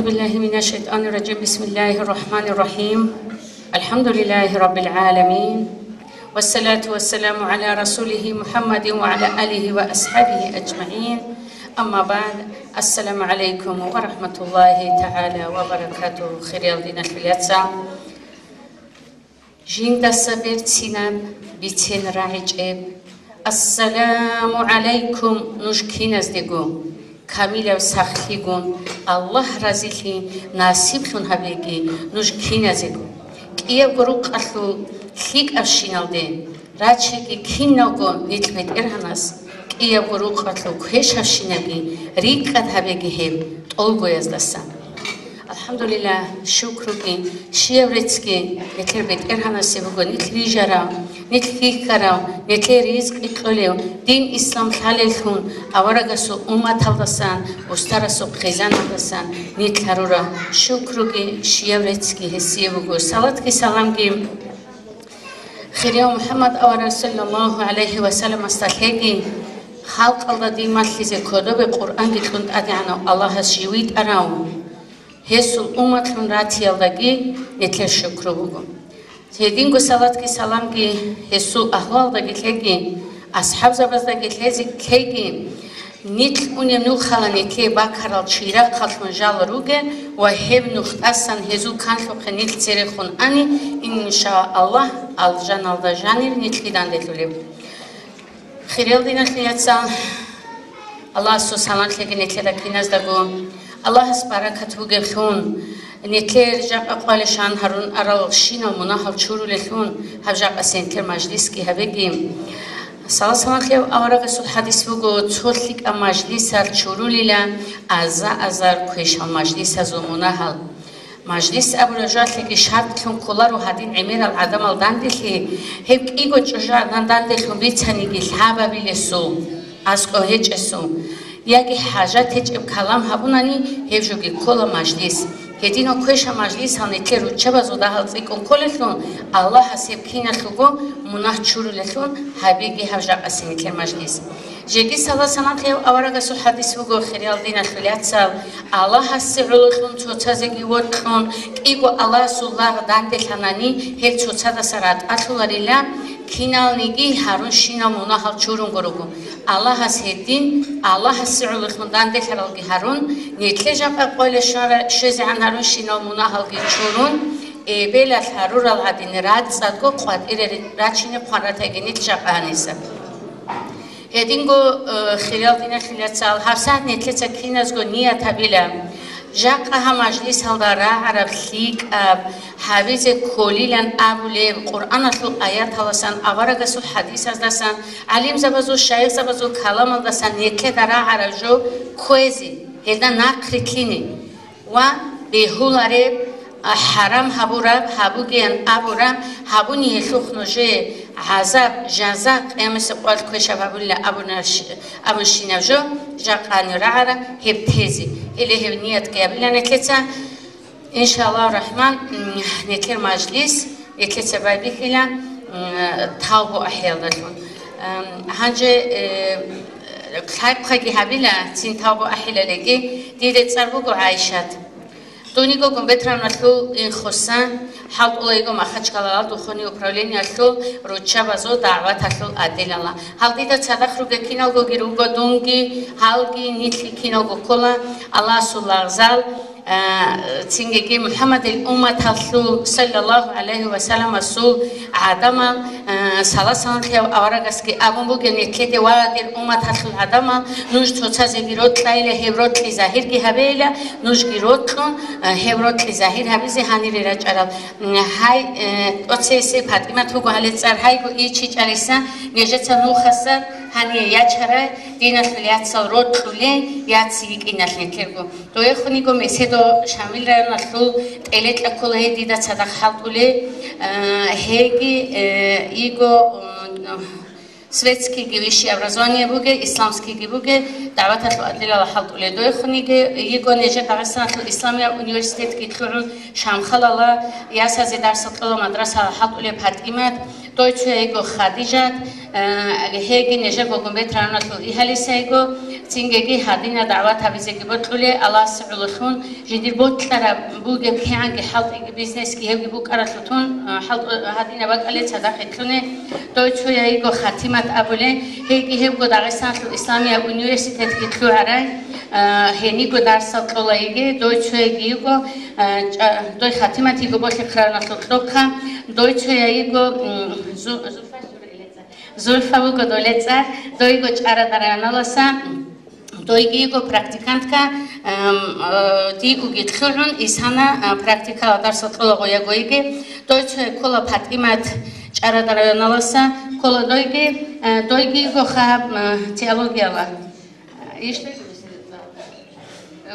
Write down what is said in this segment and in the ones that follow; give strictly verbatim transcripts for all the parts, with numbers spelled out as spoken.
بالله من الشيطان الرجيم. بسم الله الرحمن الرحيم. الحمد لله رب العالمين. والصلاة والسلام على رسوله محمد وعلى آله وأصحابه أجمعين. أما بعد. السلام عليكم ورحمة الله تعالى وبركاته. Хириял диналъул яцал. Жиндаса берцинаб, бицен рагӀичӀеб. Ассаламу гӀалайкум, нуж киназдего, камилаб сахлъигун, Аллагь разилъи насиблъун гьабеги нуж киназего. КӀиябго рукъалъул лъикӀабщиналде рачеги киналго нилъ БетӀергьанас, кӀиябго рукъалъул квешабщинаги рикӀкӀад гьабеги гьеб тӀолгояздасан. АлхӀамдулиллагь, шукруги, щияб реццги нилъер БетӀергьанасе буго, нилъ рижарав, нилъ хьихьарав, нилъее ризкъи кьолев, дин ислам лъалеллъун, аварагасул умматалдасан, устарасул хъизаналдасан нилъ гьарурав шукруги, щияб реццги гьесие буго. Салатги саламги Хирияв МухӀаммад авараг саллаллагьу гӀалайгьи ва салламасда лъеги, халкъалда дин малъизе кодобе Къуръанги кьун ТӀадегӀанав Аллагьас жив витӀарав, гьесул умматлъун ратиялдаги нилъер шукру буго. Гьединго салатги саламги гьесул агьлуялдаги лъеги, асхӀабзабаздаги лъезе-, лъеги, нилъ унеб нухалъ нилъее бакарал чирахъаллъун жал ругел ва гьеб нухдасан гьезул канлъухъе нилъ церехун ани, иншааллагь, алжаналда жанир нилъги данделъулеб. Хириял диналъул яцал, Аллагьасул салам лъеги нилъеда киназдаго. Аллагьас баракат бугеблъун, нилъер жакъа къвалешан гьарун арал щинал мунагьал чурулелъун, гьаб жакъасе нилъер мажлисги гьабеги. Саллаллагьу гӀалайгьи аварагасул хадис буго, цо лъикӀаб мажлисалъ чурулила аза-азар квешал мажлисазул мунагьал. Мажлис абураб жоялъеги шартӀлъун кколаро гьадин гӀемерал гӀадамал данделъи, гьеб кӀиго чӀужугӀадан данделъун бицаниги лъабабилесул, аскӀов гьечӀесул, яги хӀажат гьечӀеб калам гьабунани, гьеб жоги ккола мажлис. Гьединал квешаб мажлисал нилъер руччабазул дагьал цӀикӀкӀун кколелъул, Аллагьас гьеб киналъулго мунагь чурулелъул гьабиги гьаб жакъасе нилъер мажлис. Жеги саллаллагьу гӀалайгьи аварагасул хадис буго, хириял диналъул яцал, Аллагьасе гӀололъун цоцазеги вокьун, кӀиго Аллагьасул лагъ данделъанани, гьел цоцадаса ратӀалъуларила, киналниги гьарун щинал мунагьал чурунго руго. Аллагьас гьедин, Аллагьасе гӀололъун данделъаралги гьарун, нилъе жакъа къойла щвара-, щвезегӀан гьарун щинал мунагьалги чурун, эбелалъ гьарурал гӀадин рацӀцӀадго къватӀире рачине хъван ратайги нилъ жакъа гьаниса. Гьединго, э, хириял диналъул яцал, гьабсагӀат нилъеца киназго ният гьабила. Жакъа гьаб мажлисалда рагӀараб лъикӀаб гьабизе кколилан абулеб Къуръаналъул аяталасан, аварагасул хадисаздасан, гӀалимзабазул, шайихзабазул каламалдасан нилъеда рагӀараб жо кквезе, гьелда нахърилълъине. Ва бегьулареб, а, хӀарам гьабураб, гьабугеян абураб, гьабуни гьелъухъ нужее гӀазаб, жаза, къиямасеб къоялъ квешаб гьабулила абуна-, абунщинаб жо, жакъани рагӀара гьеб тезе. Гьеле гьеб ниятги гьабила нилъеца, иншааллагьу рахӀман, м, нилъер мажлис. Нилъеца байбихьила, м, тавбу ахӀиялдалъун. Ам, гьанже, э, лъайхъаги гьабила, цин тавбу ахӀилалеги, дида цӀар буго ГӀайшат. Дуниго Гумбетравналъул инхоса, хӀалтӀула йиго Махачкалалда духунеб управлениялъул руччабазул дагӀваталъул отделалда. Гьал дида цадахъ ругел киналгоги руго дунги, гьалги нилъги киналго ккола Аллагьасул лагъзал, А, цинги МухӀаммадил умматалъул, саллаллагьу гӀалайгьи ва салламасул гӀадамал, а, саласалам лъев аварагасги абун бугеб, нилъеде ва дир умматалъул гӀадамал, нуж цоцазеги рокьайила, гьеб рокьи загьирги гьабейила, нужги рокьун, а, гьеб рокьи загьир гьабизе гьанире рачӀарал. М, гьай, э, тӀоцейсе ПатӀимат вуго гьале цӀар, гьайго ичичӀариса, нижеца нухаса гьание ячарай, диналъул яцал рокьулей, яц йикӀиналъ нилъерго. Доехун йиго Меседов Шамил районалъул, тӀелекьа ккола гьей дида цадахъ хӀалтӀулей, а, гьейги, э, йиго, м, светскийги высшее образование бугей, исламскийги бугей, дагӀваталъул отделалда хӀалтӀулей. Доехун йиго, йиго нижер Дагъистаналъул исламияб университетги лъугӀун Шамхалалда ясазе дарсал кьола мадрасаялда хӀалтӀулей ПатӀимат, дой цояй йиго Хадижат, Э, гьеги нижего гумбет рагӀуналъул игьалиса йиго, цинги гьадинал дагӀват гьабизеги бокьулей, Аллагьасе гӀололъун жиндир бокьараб бугеб кигӀанги хӀалтӀиги бизнесги гьебги букӀаралъутун, э, хӀалтӀу-, гьадинаб бакӀалде цадахъ итлъуне. Дой цояй йиго Хатимат абулей, гьейги гьебго Дагъистаналъул исламияб университетги лъугӀарай, э, гьениго дарсал кьола йиги, дой цояйги йиго, э, чӀа-, дой Хатимат йиго Болъихъ районалъул кьурхъа, дой цояй йиго, м, Зу-, Зу-, Зульфа вуго долецӀар, дойго ЧӀарада районаласа, дойги йиго практикантка, эм, э, ди уги лъугӀун, исана, э, практикала дарсал кьола гъоя гойги, дой цояй ккола ПатӀимат ЧӀарада районаласа, ккола дойги, э, дойги йиго хаб, э, теологияла. Ишли?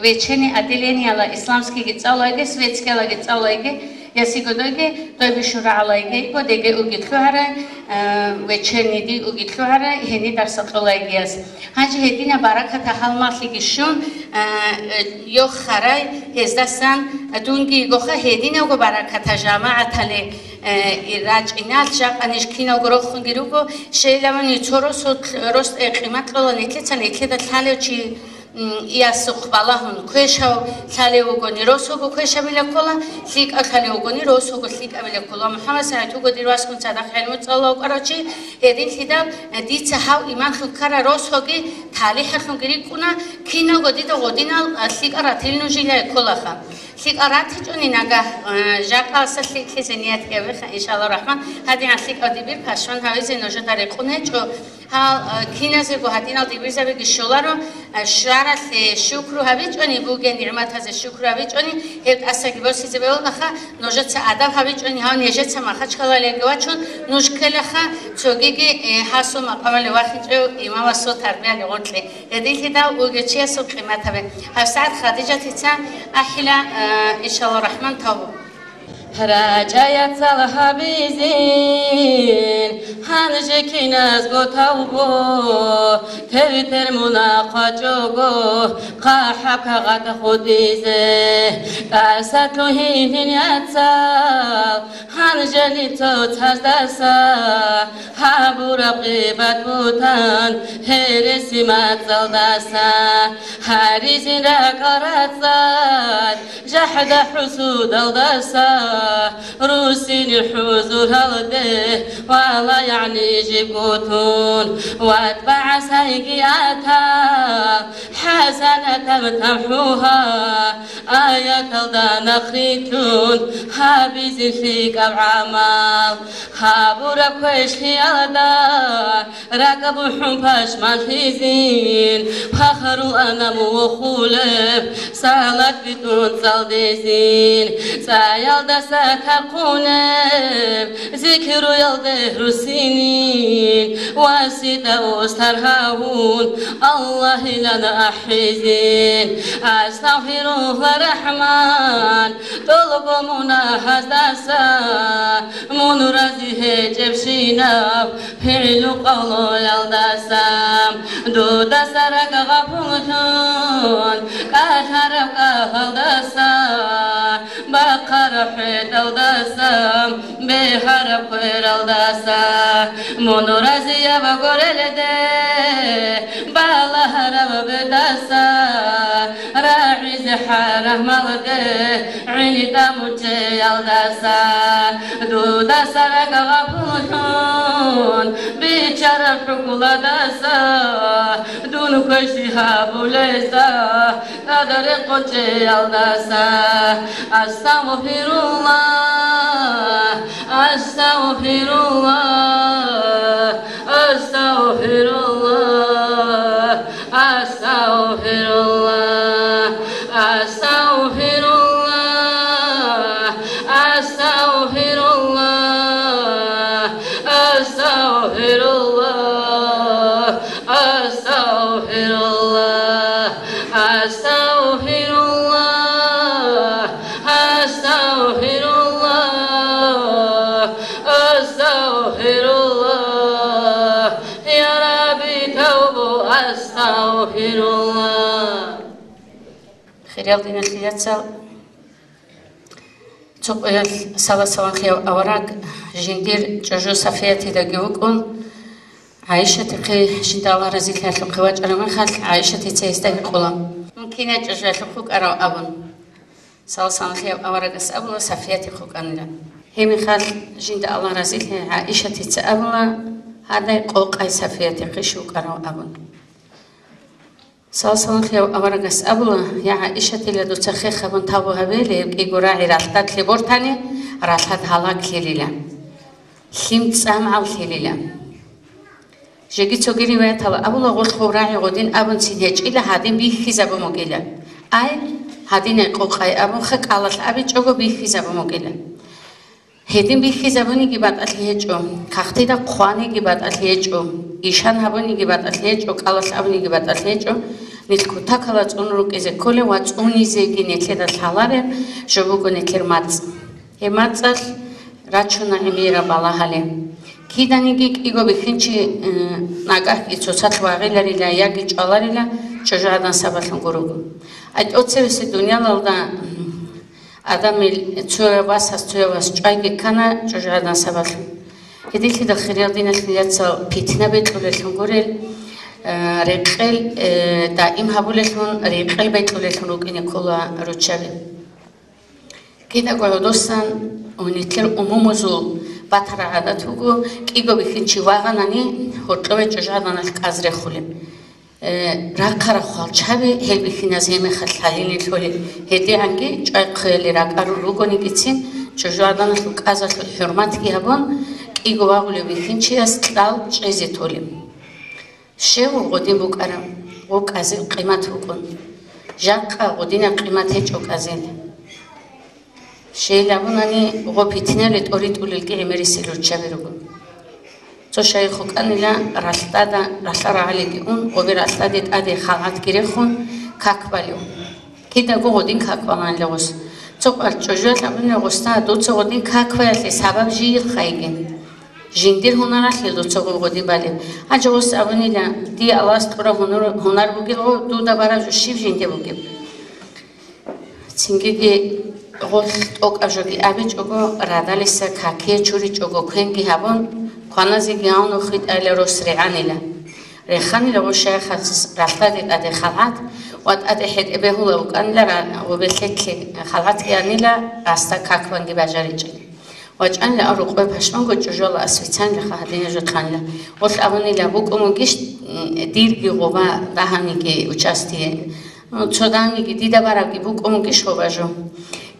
Вечерний отделениялъ исламскийги цӀалулей, светскийялаги цӀалулей, ясигодойги, дой бищун рагӀулей, гьейго деги уги лъугӀарай, э, вечернийги уги лъугӀарай, гьениб дарсал кьолей гьес. Гьанже гьединаб баракат гьалмагълъиги щун, э, э, йохарай, гьездасан дунги йигоха гьединабго баракат жамагӀаталде, э, и рачӀиналъ. Жакъа ниж киналго рохунги руго, щайилавани цо росулъ, рос-, э, къимат кьола нилъеца, нилъеда лъалев чи, м, ясухъ балагьун квешав лъалев вугони, росого квешабила ккола, лъикӀав лъалев вугони, росого лъикӀабила ккола. МухӀаммад СагӀид вуго дир васгун цадахъ гӀелму цӀалулев вукӀарав чи, гьединлъидал, э, дица гьав имамлъун ккарал росоги талихӀалъунги рикӀкӀуна, киналго дида гъодинал, э, лъикӀал ратил нуж илай кколаха. ЛъикӀал ратичӀони нагагь, э, жакъаса лъикӀлъизе ният гьабеха, иншаллагь рахман, гьадигӀан лъикӀал дибир пашман гьавизе нужеда рекъон гьечӀо. Гьал, э, киназего гьадинал дибирзабиги щоларо, э, щваралъе щукру гьабичӀони, бугеб нигӀматазе щукру гьабичӀони, гьеб тӀасаги босизе бегьулаха, нужеца адаб гьабичӀони, гьав нижеца Махачкалалиги вачун, нуж ккелаха, цогиги, э, гьасул макъамалде вахинчӀев имамасул тарбияли гъоркье. Гьединлъидал вугев чиясул къимат гьабе. ГьабсагӀат Хадижатица ахӀила, э, иншаллагь рахман, тавбу. РачӀа яцал гьабизин, гьанже киназго тавбу, тер-тер мунагь хъвачӀого, хъахӀаб кагъат хутӀизе, тӀаса лъугьинин яцал, гьанжени цоцаздаса, гьабураб гъибат-бугьтан гьереси мацӀалдаса, гьаризин ракӀал рацӀцӀад, жахӀда-хӀусудалдаса, русинил хӀузуралде вала, ягӀни жибго тун, ватӀ багӀасайги атал, хӀасанатаб тамхӀугьа, аяталда нахърилълъун гьабизин лъикӀаб гӀамал. Гьабураб квешлъиялда ракӀ бухӀун пашманлъизин, фахрул анам вохулеб салат битӀун цӀалдизин, цӀаялдаса тархъунеб зикруялде русинин, васитӀа устар гьавун Аллагьилан ахӀизин. Астагъфирулла, Рахман, тӀолго мунагьаздаса, мун рази гьечӀебщинаб пигӀлу-къавлуялдаса, дудаса ракӀ гъапуллъун кӀалъараб кӀалалдаса, бахъараб хӀетӀалдаса, бегьараб квералдаса, мун разияб гурелде балагьараб бетӀаса, рагӀизе хӀарамалде гӀинитӀа мучӀеялдаса, дудаса ракӀ гъапуллъун биччараб хӀукмуялдаса, дун квешлъи гьабулезда тӀаде рекъон чӀеялдаса. Астагъфирулла, астагъфирулла, астагъфирулла, астагъфирулла, астагъфирулла, астагъфирулла, астагъфирулла, астагъфирулла, астагъфирулла, астагъфирулла, астагъфирулла, я Рабби, тавбу, астагъфирулла. Хириял диналъул яцал, цо къоялъ сала-саламлъияб авараг жиндир чӀужу Сафиятидаги вукӀун, ГӀайшатихъе жинда Аллагь разилъиялъухъе вачӀараб мехалъ, ГӀайшатица гьесда гьикъула: «Мун кин ячӀа жуялъухъ вукӀарав?» абун. Саллаллагьу гӀалайгьи аварагас абула, Сафиятихъ вукӀанила. Гьеб мехалъ жинда Аллагь разилъи ГӀайшатица абула: «Гьадай къокъай Сафиятихъе щив вукӀарав?» абун. Саллаллагьу гӀалайгьи аварагас абула: «Я ГӀайшатила, дуца хех гьабун тавбу гьабе, гьеб кӀиго рагӀи ралъдалъе бортани, ралъад гьалаклъилила, лъим цӀамгӀаллъилила». Жеги цоги риваятала абула, гъолъ гъоб рагӀи гъодин абунцин гьечӀила, гьадин бихьизабун бугила. Ай, гьадинай къокъай абунха, кӀалалъ абичӀого бихьизабун бугила. Гьедин бихьизабуниги батӀалъи гьечӀо, кагътида хъваниги батӀалъи гьечӀо, ишан гьабуниги батӀалъи гьечӀо, кӀалалъ абуниги батӀалъи гьечӀо, нилъ кутакала цӀун рукӀизе кколеб ва цӀунизеги нилъеда лъалареб жо буго нилъер мацӀ. Гьеб мацӀалъ рачуна гӀемераб балагьали. Киданиги кӀиго бихьинчи, э, нагагьги цоцалъ вагъиларила яги чӀваларила чӀужугӀадан сабаблъун гуруго. ГьатӀоцевеси дуниялалда, м, Адамил цояв васас цояв вас чӀвайги ккана чӀужугӀадан сабаблъун. Гьединлъидал хириял диналъул яцал питна бекьулеллъун гурел, э, рекъел, э, даим гьабулеллъун рекъел бекьулеллъун рукӀине ккола руччаби. Кидаго гӀодосан ва нилъер умумузул батараб гӀадат буго, кӀиго бихьинчи вагъанани, гьоркьове чӀужугӀаданалъ кӀаз рехулеб. Э, рахъараб хвалчаби гьел бихьиназ гьеб мехалъ лъалине лъолеб. ГьедигӀанги чӀвай хъвеялъе ракӀарун ругонигицин, чӀужугӀаданалъул кӀазалъул хӀурматги гьабун, кӀиго вагъулев бихьинчияс кьал чӀезе толеб. Щев гъодин букӀараб, гъоб кӀазил къимат букӀун. Жакъа гъодинаб къимат гьечӀо кӀазил. Щейил абунани, гъоб питнали тӀоритӀулелги гӀемерисел руччаби руго. Цо шайихъ вукӀанила ралъдада, ралъа рагӀалиги ун, гъобе ралъдаде тӀаде халгӀатги рехун, как балев. Кидаго гъодин как баланила гъос. Цо къварчӀожуялъ абунила гъосда: «Дуца гъодин как баялъе сабаб жийилха йигин. Жиндир гьунаралъе дуца гъоб гъодин балеб». Гьанже гъос абунила: «Дие Аллагьас кьураб гьунар, гьунар бугел гъо, дуда бараб жо щиб жинде бугеб?» Цингиги гъолъ тӀокӀаб жоги абичӀого, радалиса какие чуричӀого квенги гьабун, кваназеги гьавун хитӀайла рос регӀанила. Реханила гъо шайихас ралъдаде тӀаде халгӀат ва тӀаде хӀетӀе бегьула вукӀанила ра-, гъобе лъеклъи халгӀатги анила, гъасда какбанги бажаричӀел. ВачӀанила а рукъове пашманго чӀужуялда асвицанилаха гьадинаб жо хъанила. Гъолъ абунила: «БукӀун бугищ, м, дирги гъоба дагьабниги участие? М, цо дагьабниги дида барабги букӀун бугищ гъоба жо?»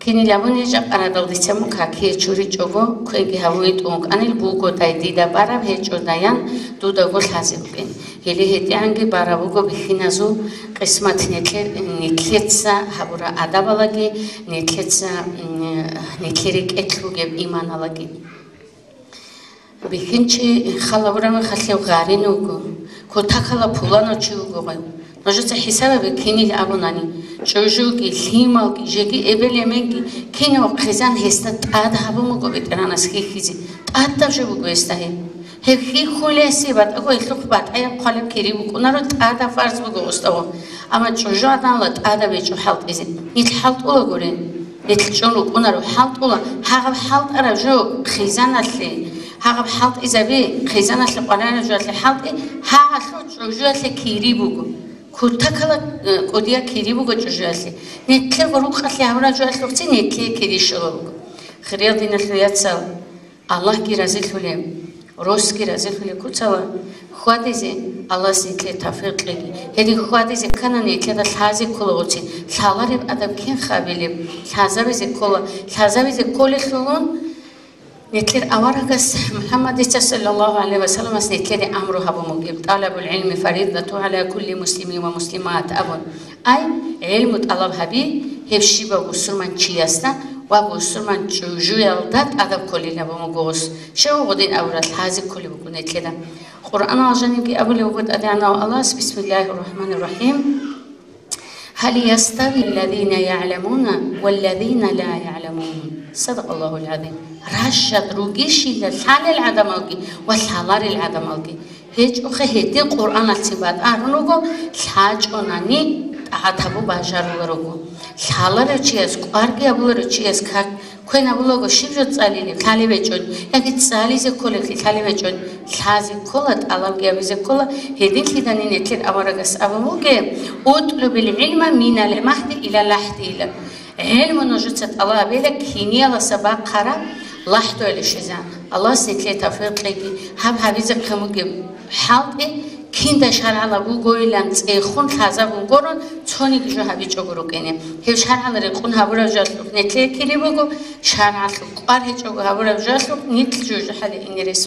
Кинил абуни, жакъа радал дица мун какие чуричӀого, квенги гьавуе тӀун вукӀанил бугодай дида бараб, гьечӀодаян дудаго лъазе букӀин. Гьеле гьедигӀанги бараб буго бихьиназул къисмат, нилъе-, нилъеца гьабураб адабалаги, нилъеца, м, нилъер рекӀелъ бугеб иманалаги. Бихьинчи халабураб мехалъ гьев гъарин вуго, кутакала пуланав чи вуго гъай. Нужеца хӀисаб гьабе, кинил абунани, чӀужуги, лъималги, жеги эбел-эменги, кинав хъизан гьесда тӀад гьабун буго БетӀергьанас хьихьизе, тӀадаб жо буго гьесда гьеб. Гьеб хьихьулесе батӀаго гьелъухъ батӀаяб хъвалеб кири букӀунаро, тӀадаб фарз буго гъосда гъо. Амма чӀужугӀаданала тӀадаб гьечӀо хӀалтӀизе. Нилъ хӀалтӀула гури. Нилъ чӀун рукӀунаро хӀалтӀула, гьагъаб хӀалтӀараб жо хъизаналъе, гьагъаб хӀалтӀизаби хъизаналъе къваригӀараб жоялъе хӀалтӀи, гьагъалъул чӀужуялъе кири буго. Кутакала, э, кӀудияб кири буго чӀужуялъе. Нилъер гъоркьалъе гьабураб жоялъухъцин нилъее кири щола буго. Хириял диналъул яцал, Аллагьги разилъулеб, росги разилъулеб куцала, хьвадизе Аллагьас нилъее тавфикъ кьеги. Гьедин хьвадизе кканани нилъеда лъазе ккола гъоцин, лъалареб адаб кин хабилеб, лъазабизе ккола, лъазабизе кколелъулун нилъер аварагас МухӀаммадица саллаллагьу гӀалайгьи ва салламас нилъеде амру гьабун бугеб: «ТӀалабул гӀилми фаридату гӀала кулли муслимин ва муслимат», – абун. Ай, гӀелму тӀалаб гьаби, гьеб щибаб бусурманчиясда ва бусурман чӀужуялда тӀадаб кколилан буго гъос. Щай гъодин абураб лъазе кколеб буго нилъеда. Къуръаналда жанибги абулеб буго ТӀадегӀанав Аллагьас: «Бисмиллагьир рахӀманир рахӀим. Гьал ястави аллазина ягӀламуна валлазина ла ягӀламун?» Садакъаллагьул гӀазим. Ращад ругищила лъалел гӀадамалги ва лъаларел гӀадамалги? ГьечӀохъе, гьедин Къуръаналъцин батӀарун руго, лъачӀонани тӀагӀат гьабун бажарула руго. Лъаларев чияс, кӀварги гьабуларев чияс как Квен абулаго, щиб жо цӀалилеб, лъалеб гьечӀо, яги цӀализе кколеблъи лъалеб гьечӀо, лъазе ккола, тӀалабги гьабизе ккола, гьединлъидани нилъер аварагас абун бугеб: «УтӀлубил гӀилма минал магьди илал лахӀди», – ила. ГӀелму нужеца тӀалаб гьабила кинияласа бахъараб лахӀдуялде щвезегӀан. Аллагьас нилъее тавфикъ кьеги, гьаб гьабизе хъен бугеб хӀалтӀи, кинда шаргӀалаб бугойилан цӀехун лъазабун гурун, цониги жо гьабичӀого рукӀине. Гьеб шаргӀал рекъон гьабураб жоялъухъ нилъее кири буго, шаргӀалъул кӀвар гьечӀого гьабураб жоялъухъ нилъ жужахӀалде ине рес.